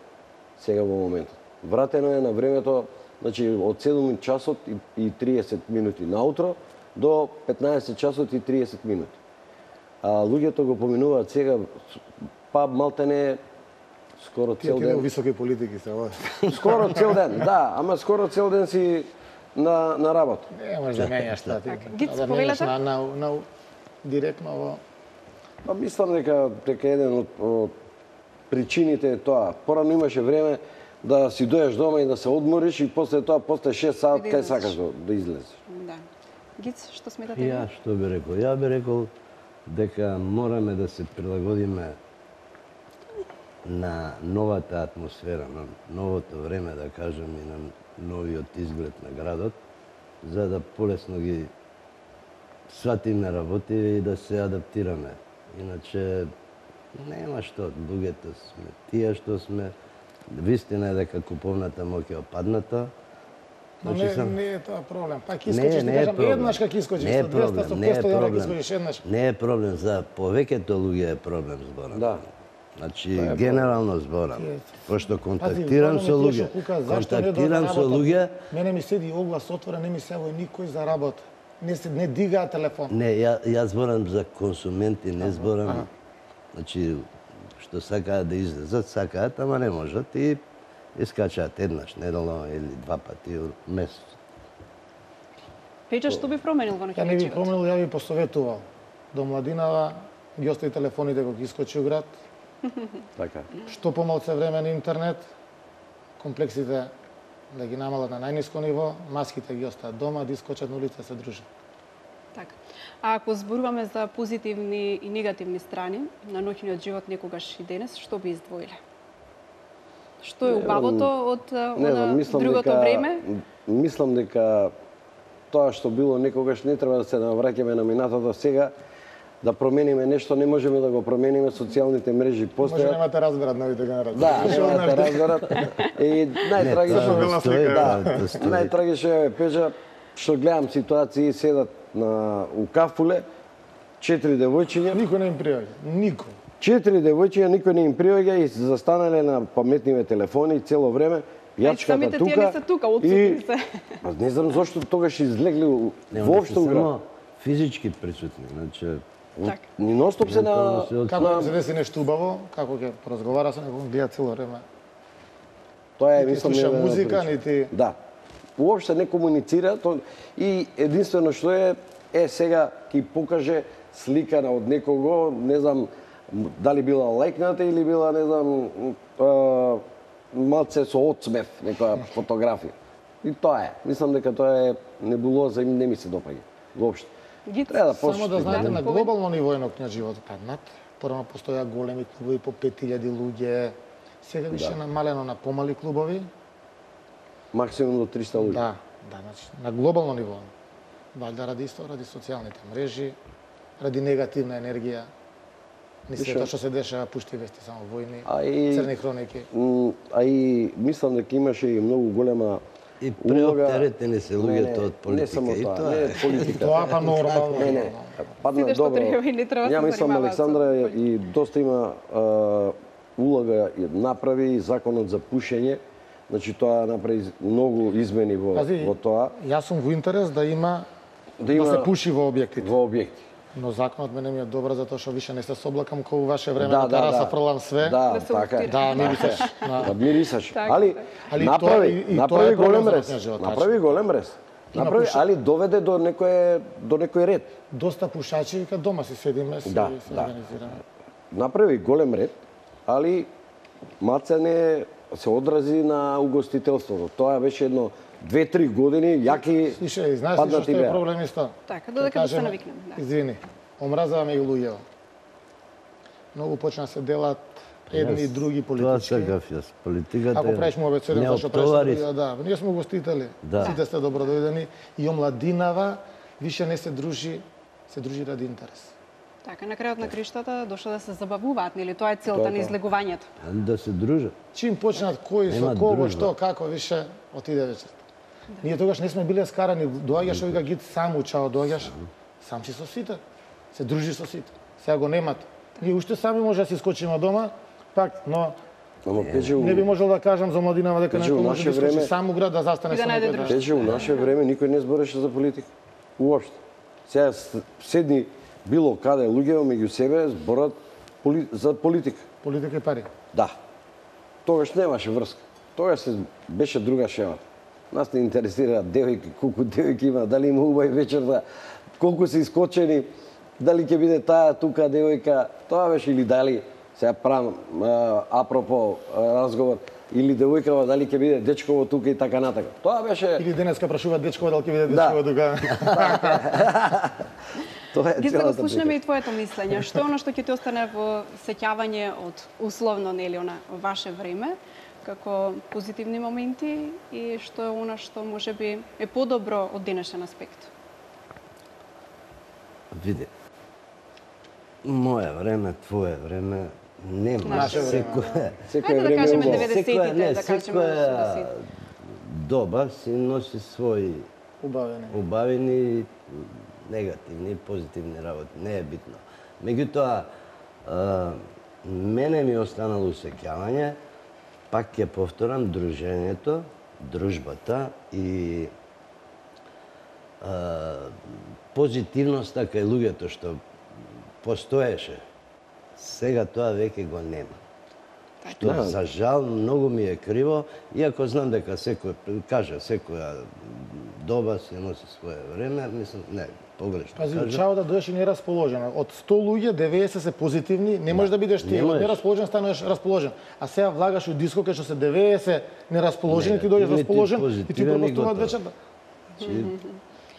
сега во моментот. Вратено е на времето, значи од седум часот и триесет минути наутро до петнаесет часот и триесет минути. А луѓето го поминуваат сега, па малтене скоро цел ден. Тие високи политики се ова. Скоро цел ден, да, ама скоро цел ден си на на работа. Не може да менјаш тоа. Гиц, повелете? На, на, на, директно во... Па мислам дека дека еден од, од причините е тоа. Порано имаше време да си дојдеш дома и да се одмориш и после тоа после шест саат кај сакаш да, да излезеш. Да. Гиц, што сметате? Ја што би рекол? Ја би рекол дека мораме да се прилагодиме на новата атмосфера, на новото време, да кажем, и на новиот изглед на градот, за да полесно ги сватиме работи и да се адаптираме. Иначе нема што, луѓето сме тие што сме. Вистина е дека куповната моќ е опадната. Но не, сам... не е тоа проблем. Пак искочиш, не, да кажам, еднаш как искочиш, со двеста, со петста евра искочиш еднаш. Не е проблем, за повеќето луѓе е проблем зборам. Да. Значи, генерално зборам. Пошто контактирам со луѓе, контактирам со луѓе... Мене ми седи оглас отворен, не ми се јави никој за работа. Не се не дигаа телефон. Не, ја ја зборам за консументи, не зборам. Значи, што сакаат да излезат, сакаат, ама не можат и искачаат еднаш неделно или два пати месец. Пејче, што би променил во Ја не би променил, ја би посоветувал. До младинава ги остави телефоните кога искочи у град. Така. Што помалце време на интернет, комплексите да ги намалат на најниско ниво, маските ги остават дома, да искочат на улица се дружат. Така. А ако зборуваме за позитивни и негативни страни на ноќниот живот некогаш и денес, што би издвоиле? Што е убавото од она другото дека, време? Мислам дека тоа што било некогаш не треба да се навраќаме на минатото сега, да промениме нешто, не можеме да го промениме, социјалните мрежи постојат. Може нема да разберат новите генерации. Да, нема да разберат. И најтрагично да, најтрагично е Пеџа што гледам ситуации седат на у кафуле, четири девојчиња. Никој не им приоѓа, никој. Четири девојчиња, никој не им приоѓа и застанале на паметниве телефони цело време. Јачката тука. Тие не се тука, отсутни се. Па не знам зошто тогаш излегли воопшто у град. Само физички присутни, значи Так. Ни ностоп се на... Како да се деси нешто убаво, како ќе поразговара со некој, гледа цело време. Тоа е, нити мислам, слуша еден музика, причина. нити... Да. Уопште не комуницира, то... и единствено што е, е сега ќе покаже слика од некого, не знам дали била лајкната или била, не знам, а, малце со одсмев, некоја фотографија. И тоа е. Мислам дека тоа е небулоза и не ми се допаѓа. Воопште. Треба да Само да знаете, на глобално ниво е ноќниот живот паднат. Порано постоја големи клубови по пет илјади луѓе. Сега више Да. намалено на помали клубови. Максимум до триста луѓе. Да, да, значи на глобално ниво. Валјда ради исто, ради социјалните мрежи, ради негативна енергија. Не се тоа што се дешава, пушти вести само војни, А и- црни хроники. М, А и мислам дека имаше и многу голема и улога... преоптеретени се Не, луѓето не, од политика. Не само И тоа, тоа не е. е политика. Тоа па нормално. Не, не, падна Сите што добро. треба и не треба да Ја се мислам занимаваат со Александра политика. и доста има а, улога и направи и законот за пушење, Значи тоа направи многу измени во, Пази, во тоа. Јас сум во интерес да има Да, има, да се пуши во објектите. Во објекти. Но законот мене ми е добар затоа што више не се соблакам како во ваше време Да, на да, тераса да. фрлам све. Да, Да се така е. уктира. Да, мирисаш. Да, мирисаш. Така, Али, Али направи, тоа и- и тоа направи е проблем голем за рез. ноќния живот, Направи голем рез. Има Направи, пуша- али доведе до некој до некој ред. Доста пушачи вика дома си седиме, си Да, се да. организираме. Направи голем ред, али маце не се одрази на угостителството. Тоа беше едно две-три години јаки Слушај, знаеш ли што паднати е беа. проблем исто? Така, додека да се навикнем. Да. Извини, омразаваме и луѓето. Многу почна се делат едни и други Тоа политички. сакав јас. Политиката Ако правиш му обецеден, не зашто правиш оптовари. луѓе, да. Ние сме гостители. Да. Сите сте добродојдени и омладинава више не се дружи, се дружи ради интерес. Така, на крајот на криштата дошла да се забавуваат, нели? Тоа е целта Тоа, на тоа. излегувањето. Да се дружат. Чим почнат кој со Нема кого, дружба. што, како, више отиде вечерта. Ние тогаш не сме биле скарани, доаѓаш овика гид сам учао, доаѓаш, сам си со сите. Се дружиш со сите. Сега го немат. Ние уште сами може да си скочиме од дома, пак, но Ама пече у, не би можел да кажам за младинава дека Значи, некој у може наше да искочи време- сам у град да застане И да со најде некој. друштво. пече у наше време никој не збореше за политика. Уопште. Сега с- седни било каде луѓе меѓу себе зборат поли, за политика. Политика и пари. Да. Тогаш немаше врска. Тогаш се беше друга шема. Нас не интересира девојки, колку девојки има, дали има убави вечерта, колку се искочени, дали ќе биде таа тука девојка, тоа беше или дали сега правам а, апропо а, разговор, или девојкава дали ќе биде дечково тука и така натака. Тоа беше Или денеска прашува дечкова дали ќе биде Да. дечкова тука. тоа е Ги за да целата го слушнеме прика. и твоето мислење. Што е оно што ќе ти остане во сеќавање од условно нели она ваше време како позитивни моменти и што е оно што можеби е подобро од денешен аспект? Види. Моје време, твое време, нема Наше време. секој. Секој Ајде да време кажеме убаво. деветдесетите, Секоја, не, да кажеме секоја осемдесетите. доба си носи своји Убавени. убавени, негативни и позитивни работи. Не е битно. Меѓутоа, а, мене ми останало усеќавање, пак ќе повторам, дружењето, дружбата и а, позитивноста кај луѓето што постоеше. Сега тоа веќе го нема. Што Да. за жал многу ми е криво, иако знам дека секој кажа секоја доба се носи свое време, мислам не, погрешно Пази, кажа. учао да дојдеш и нерасположен. Од сто луѓе, деветдесет се позитивни, не можеш да бидеш ти. Не Од можеш. нерасположен станеш расположен. А сега влагаш у диско кај што се деветдесет нерасположени, ти дојдеш Негативни, расположен и ти позитивен и пропустуваат готово. вечерта. Значи,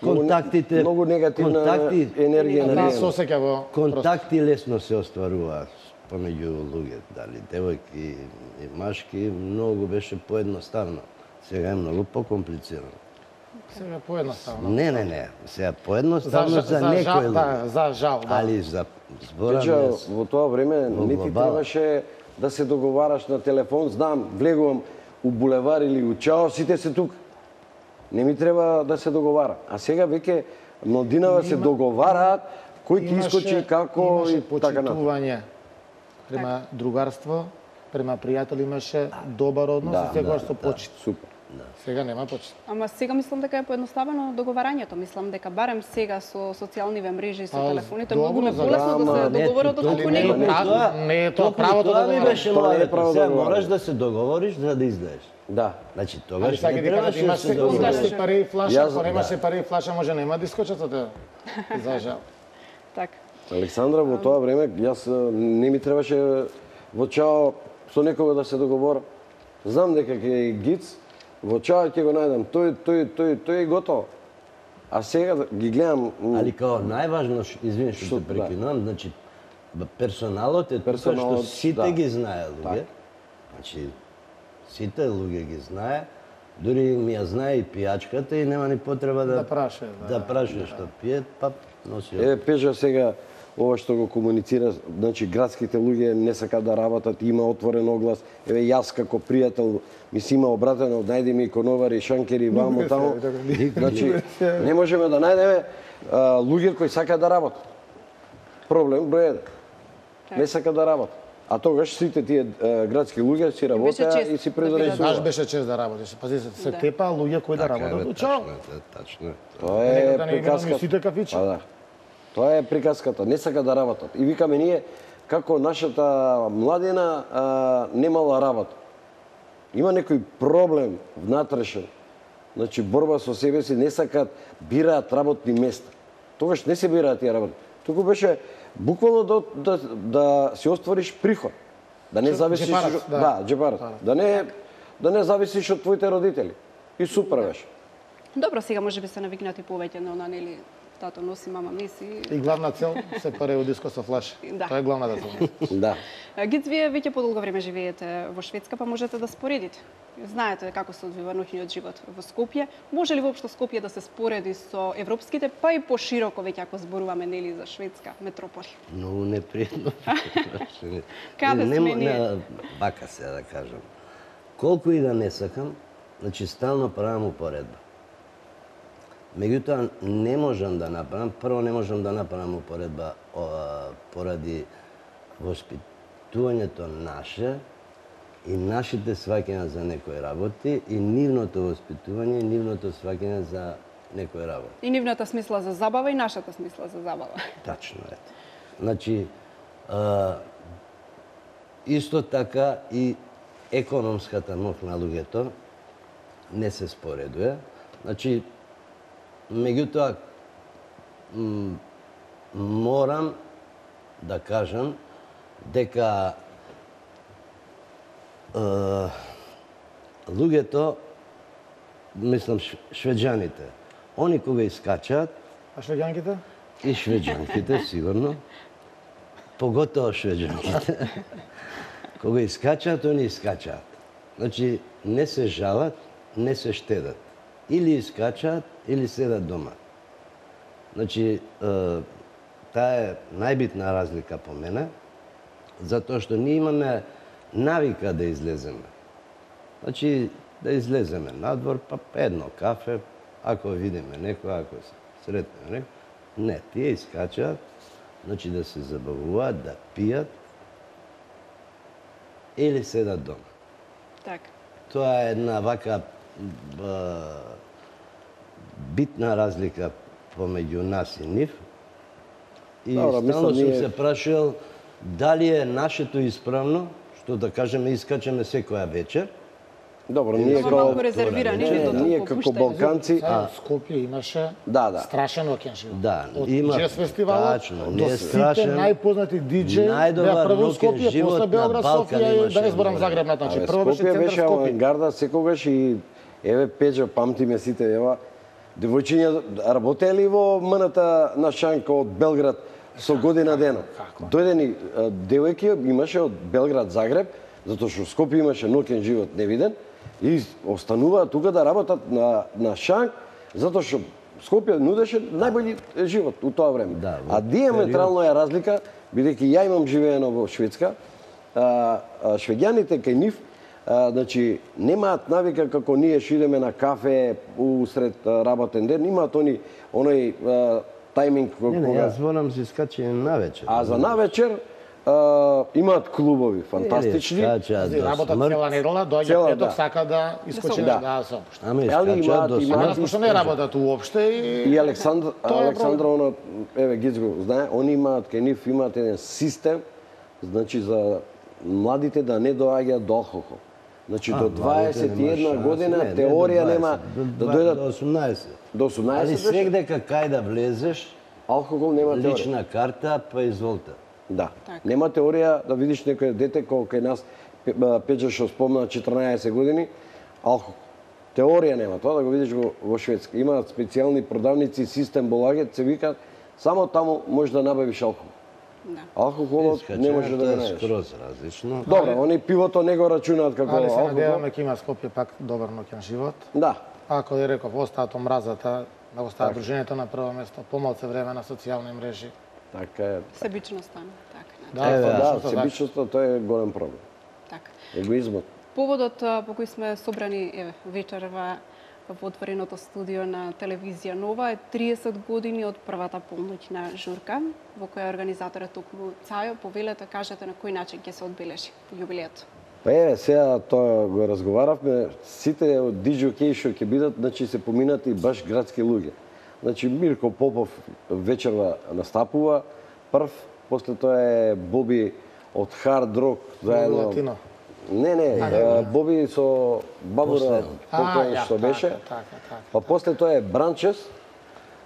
контактите, Многу негативна контакти, енергија на Нас дејано. се осеќа во контакти лесно се остваруваат помеѓу луѓе, дали девојки и машки, многу беше поедноставно. Сега е многу покомплицирано. Сега поедноставно. Не, не, не. Сега поедноставно За- за, за некој жал, луѓе. да, за жал, да. Али за зборам Пече, јас, во тоа време во не ти глобала. требаше да се договараш на телефон, знам, влегувам у булевар или у чао, сите се тука. Не ми треба да се договара. А сега веќе младинава се договараат кој ќе искочи како имаше и така натаму. почитување према другарство, према пријатели имаше добар однос Да, и секогаш да, со да. почит. Супер. Сега нема почит. Ама сега мислам дека е поедноставено договарањето. Мислам дека барем сега со социјалниве мрежи и со А, телефоните добро, многу за полесно да ама се не, договорат толку отколку не него. е Право, тоа. не е тоа Токму правото да тоа ми договориш. беше Тоа не е мојата. право да Сега договориш. мораш да се договориш за да излезеш. Да. Значи Али тогаш сега не ти кажат, требаше да имаш се се имаш договориш. се пари и флаша, Јас- ако немаш да. се пари и флаша, може нема да искочат од тебе. За жал. Така. Александра, во тоа време, јас а, не ми требаше во чао со некого да се договора. Знам дека ќе е гиц, во чао ќе го најдам, тој, тој, тој, тој и готово. А сега ги гледам... м, Али као најважно, ш- извини што Што- те прекинувам, значи б- персоналот е тука што Персоналот, сите да. ги знае луѓе. Така. Значи сите луѓе ги знае, дури ми ја знае и пијачката и нема ни потреба да Да праше, да. да праше што пие, па носи. Е, Пежа сега, ова што го комуницира, значи градските луѓе не сакаат да работат, има отворен оглас. Еве јас како пријател ми си има обратено, најди ми иконовари, шанкери, вамо, тамо. Значи, не можеме да најдеме а, луѓе кои сакаат да работат. Проблем број еден. Не сакаат да работат. А тогаш сите тие е, градски луѓе си работеа и си предорезуваа. Баш беше чест да работиш. Пази се, се тепа луѓе кои да работат у чао. Тачно. Тоа е приказката. приказка. Сите кафичи. Па да. Тоа е приказката. Не сака да работат. И викаме ние како нашата младина а, немала работа. Има некој проблем внатрешен. Значи борба со себе си, не сакат, бираат работни места. Тогаш не се бираат тие работи. Туку беше буквално да, да, да си оствариш приход. Да не зависиш Джепарат, да. да, джепарат. Да не да не зависиш од твоите родители. И супер беше. Добро, сега може би се навикнати повеќе на она, нели, тато носи, мама меси. И главна цел се паре од диско со флаш. Да. Тоа е главната цел. Да. Гиц, вие веќе подолго време живеете во Шведска, па можете да споредите. Знаете како се одвива ноќниот живот во Скопје. Може ли воопшто Скопје да се спореди со европските, па и пошироко веќе ако зборуваме, нели, за шведска метрополи? Многу непријатно. Каде Не- сме не- ние? Вака се да кажам. Колку и да не сакам, значи стално правам упоредба. Меѓутоа не можам да направам, прво не можам да направам упоредба о, поради воспитувањето наше и нашите сваќања за некои работи и нивното воспитување и нивното сваќање за некои работи. И нивната смисла за забава и нашата смисла за забава. Тачно е. Значи, а, исто така и економската моќ на луѓето не се споредува. Значи, меѓутоа, м, морам да кажам дека е, луѓето, мислам ш- швеđаните, они кога искачаат, А швеѓанките? и швеđанките сигурно, поготово швеđанките, кога искачаат, они искачаат. Значи, не се жалат, не се штедат. Или искачаат, или седат дома. Значи, е, таа е најбитна разлика по мене, затоа што ние имаме навика да излеземе. Значи, да излеземе надвор, па едно кафе, ако видиме некој, ако се сретнеме некој. Не, тие искачаат, значи да се забавуваат, да пијат, или седат дома. Така. Тоа е една вака б, битна разлика помеѓу нас и нив. И Добро, стално мислам, сум ние- се прашал дали е нашето исправно, што да кажеме искачаме секоја вечер. Добро, ние Ама како малку резервирани, Не, ви тоа ние толку како пуштајте. Балканци, Сега Скопје имаше Да, да. страшен окен живот. Да, Од има- джез фестивалот тачно, не до е сите страшен. најпознати диџеи Најдобар беа прво ноќен Скопје, живот после на Белград, Балкан Софија и имаше да не зборам многу. Загреб на значи. Абе, Прво беше Скопје центар беше Скопје. авангарда секогаш и еве Пеџа, памтиме сите, ева, девојчиња работеа ли во МН-та на Шанка од Белград со година дено? Дојдени девојки имаше од Белград Загреб, затоа што Скопје имаше ноќен живот невиден и остануваат тука да работат на на Шанк, затоа што Скопје нудеше најбољи живот у тоа време. Да, во А диаметрално е разлика, бидејќи ја имам живеено во Шведска, а, а, швеѓаните кај нив, а, значи немаат навика како ние што идеме на кафе усред а, работен ден, имаат они оној а, тајминг кога... Не, не, јас зборам за искачање навечер. А за навечер а, имаат клубови фантастични. Искачаат до Работа смрт. цела недела, доаѓа Цела, петок, да. сака да искочи Да. да се опушти. Ама Али искачаат имаат- до имаат смрт. Данас пошто не работат уопште и... И Александр, Тоа е Александра, оно, еве Гиц го знае, они имаат, кај нив имаат еден систем, значи за младите да не доаѓаат до алкохол. Значи А, до младите дваесет и нема една шанса. година Не, не до теорија дваесет, нема до да два- дојдат до осумнаесет. до осумнаесет Али беше. свегде кај да влезеш, Алкохол нема теорија. лична карта, па изволте. Да. Така. Нема теорија да видиш некој дете кој кај нас Пе- Пеџа што спомна четрнаесет години, алкохол. Теорија нема тоа да го видиш во, во Шведска. Имаат специјални продавници, систем Болагет, се викаат, само таму можеш да набавиш алкохол. Да. Алкохолот не може да го Искачањето е најдеш. скроз различно. Добро, они пивото не го рачунаат како Али се алкохол. надеваме ќе има Скопје пак добар ноќен живот. Да. Ако ја реков, остаат омразата, да остава Така. дружењето на прво место, помалце време на социјални мрежи. Така е. Себичноста, така. Да, Еве, тоа Да, точно така. себичноста тоа е голем проблем. Така. Егоизмот. Поводот а, по кој сме собрани еве вечерва во отвореното студио на телевизија Нова е триесет години од првата полноќна журка, во која организаторот токму Цајо. Повелете, кажете на кој начин ќе се одбележи јубилејот. Па еве, сега тоа го разговаравме, сите од диџокеи што ќе бидат, значи се поминати баш градски луѓе. Значи Мирко Попов вечерва настапува прв, после тоа е Боби од Хард Рок заедно. Латино. Не, не, а, Боби со Бабура покој што беше. Така, така. Па после тоа е Бранчес,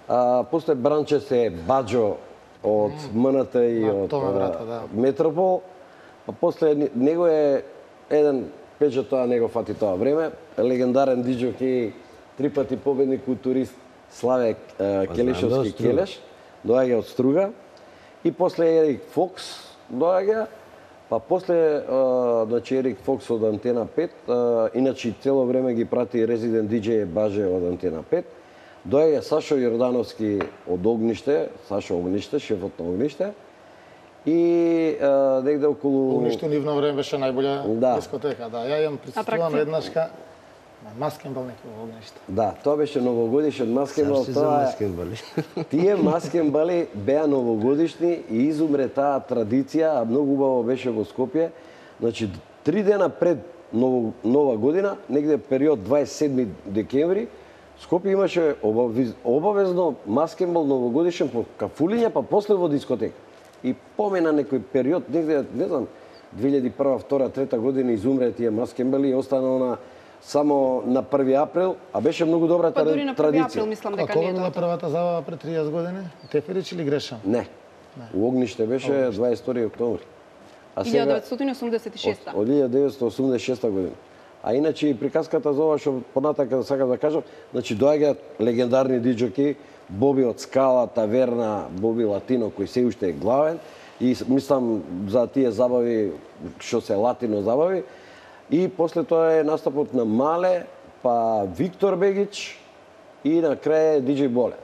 а после Бранчес е Баџо од МНТ и од да. Метропол. Па после него е еден пеџа, тоа него фати тоа време, легендарен диџокеј, три пати победник културист Славе Келешовски Келеш, доаѓа од Струга. И после Ерик Фокс доаѓа, па после значи Ерик Фокс од Антена пет, иначе цело време ги прати резидент диџеј Баже од Антена пет. Доаѓа Сашо Јордановски од Огниште, Сашо Огниште, шефот на Огниште. И а, негде околу... Огниште нивно време беше најбоља да. дискотека, да. Ја имам присуствувам еднаш ка маскенбал некој во Огниште. Да, тоа беше новогодишен маскенбал. Сашо за маскенбали. Тие маскенбали беа новогодишни и изумре таа традиција, а многу убаво беше во Скопје. Значи, три дена пред ново, нова година, негде период дваесет и седми декември, Скопје имаше обавезно маскенбал новогодишен по кафулиња, па после во дискотека. И помена некој период, негде, не знам, две илјади и прва, втора, трета година изумре тие маскенбали и останало на само на први април, а беше многу добра па, традиција. Па дури на први април мислам дека не е тоа. тоа. Првата забава пред триесет години? Теферич или грешам? Не. Не. У Огниште беше дваесет и втори октомври. А илјада деветстотини осумдесет и шеста. Од, од илјада деветстотини осумдесет и шеста година. А иначе и приказката за ова што понатака сакам да кажам, значи доаѓаат легендарни диџоки, Боби од Скала, Таверна, Боби Латино кој се уште е главен и мислам за тие забави што се латино забави. И после тоа е настапот на Мале, па Виктор Бегич и на крај диџеј Боле.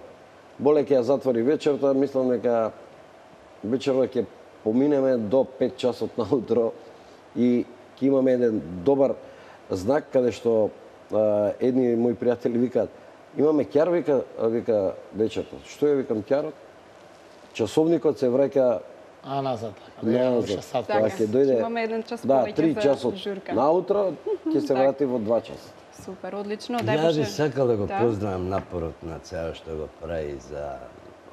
Боле ќе ја затвори вечерта, мислам дека вечерта ќе поминеме до пет часот наутро и ќе имаме еден добар знак каде што а, едни мои пријатели викаат имаме ќар, вика, вика вечерта. Што е, викам, ќарот? Часовникот се враќа А, назад. Назад. Така, ќе дојде. Имаме еден час да, повеќе три за часот журка. наутро, ќе се врати во два часа. Супер, одлично. Дај Ја би Боже. сакал да го Да. поздравам напорот на Цајо што го прави за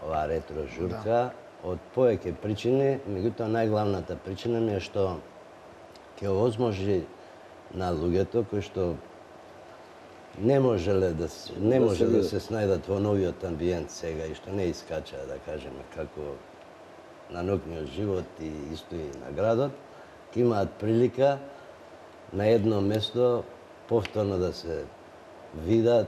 оваа ретро журка од повеќе причини, меѓутоа најглавната причина ми е што ќе овозможи на луѓето кои што не можеле да се, не Да може се да видат. се снајдат во новиот амбиент сега и што не искачаа, да кажеме, како на ноќниот живот и исто и на градот, ќе имаат прилика на едно место повторно да се видат,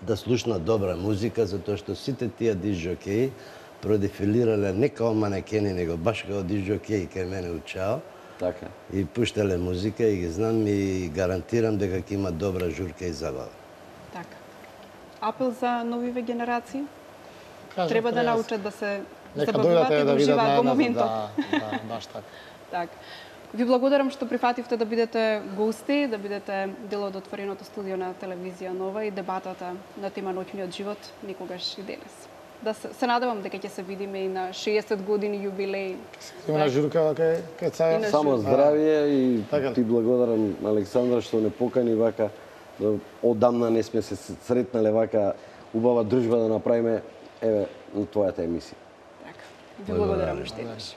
да слушнат добра музика, затоа што сите тие диџокеи продефилирале не као манекени, него баш као диџокеи кај мене у Чао. Така. И пуштале музика и ги знам и гарантирам дека ќе има добра журка и забава. Така. Апел за новиве генерации? Кажам, Треба да јас. научат да се Нека забавуваат дојдат и е да да видат уживаат во најназад, моментот. да, да, баш така. Така. Ви благодарам што прифативте да бидете гости, да бидете дел од отвореното студио на телевизија Нова и дебатата на тема ноќниот живот никогаш и денес. Да се, се надевам дека ќе се видиме и на шеесет години јубилеј. Има на журка кај кај И Цајо. на Само здравје и Така. ти благодарам, Александра, што не покани вака. Да одамна не сме се сретнале вака убава дружба да направиме еве на твојата емисија. Така. Ви благодарам уште еднаш.